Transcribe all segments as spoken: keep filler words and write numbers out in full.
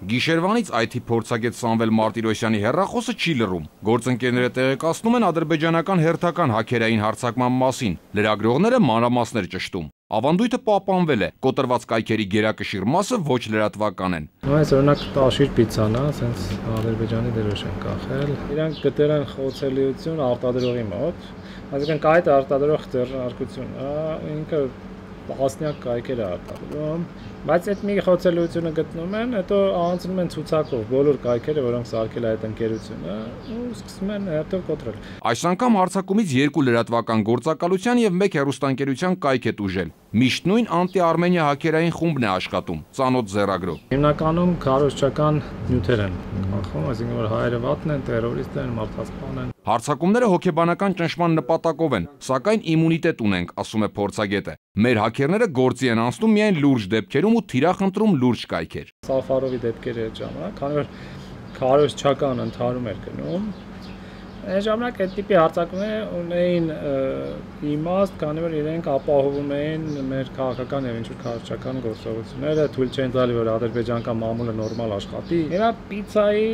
Գիշերվանից այ թի փորձագետ Սամվել Մարտիրոսյանի հեռախոսը չի լռում։ Գործընկերները տեղեկացնում են ադրբեջանական հերթական հաքերային հարձակման մասին։ Լրագրողները մանրամասներ ճշտում։ Ավանդույթը պահպանվել է, կոտրված կայքերի գերակշիռ մասը ոչ լրատվական են։ Այս օրինակ տաշիր պիցան է, ասենց Ադրբեջանի դրոշ են կախել։ Իրանք գտել են խոցելիություն արտադրողի մոտ, այսինքն կայքը արտադրող ձեռնարկությունը ինքը տասնյակ կայքեր է արտադրում, բայց այդ մի խոցելիությունը գտնում են, հետո անցնում են ցուցակով բոլոր կայքերը, որոնք սարքել է այդ ընկերությունը, ու սկսում են հետո կոտրել։ Այս անգամ հարձակումից երկու լրատվական գործակալության եւ մեկ հեռուստաընկերության կայք է տուժել։ Միշտ նույն անտի-Արմենիա հաքերային խումբն է աշխատում, ծանոթ ձեռագրով։ Հիմնականում քարոզչական նյութեր են կանխում, այսինքն որ հայերը վատն են, տերորիստ են, մարդասպան են։ Հարձակումները հոգեբանական ճնշման նպատակով են, սակայն իմունիտետ ունենք, ասում է փորձագետը։ Մեր հաքերները գործի են անցնում միայն լուրջ դեպքերում ու թիրախ ընտրում լուրջ կայքեր։ Սաֆարովի դեպքերը այդ ժամանակ, քանի որ քարոզչական ընդհարում էր գնում, այն ժամանակ այդ տիպի հարձակումները ունեին իմաստ, քանի որ իրենք ապահովում էին մեր քաղաքական եւ ինչ-որ քարոզչական գործողությունները, թույլ չեն տալի, որ ադրբեջանական մամուլը նորմալ աշխատի։ Հիմա պիցայի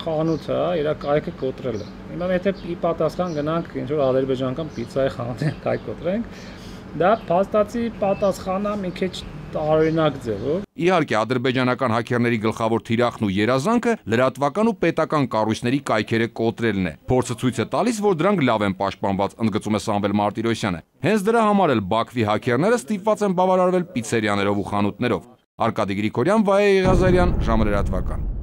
խանութը իր կայքը կոտրել է։ Հիմա եթե ի պատասխան գնանք ինչ-որ ադրբեջանական պիցայի խանութի կայք կոտրենք, դա փաստացի պատասխանա մի քիչ տարօրինակ ձևով։ Իհարկե, ադրբեջանական հաքերների գլխավոր թիրախն ու երազանքը լրատվական ու պետական կառույցների կայքերը կոտրելն է։ Փորձը ցույց է տալիս, որ դրանք լավ են պաշտպանված, ընդգծում է Սամվել Մարտիրոսյանը։ Հենց դրա համար էլ Բաքվի հաքերները ստիպված են բավարարվել պիցերիաներով ու խանութներով։ Արկադի Գրիգորյան, Վայե Եղիազարյան, ժամը լրատվական։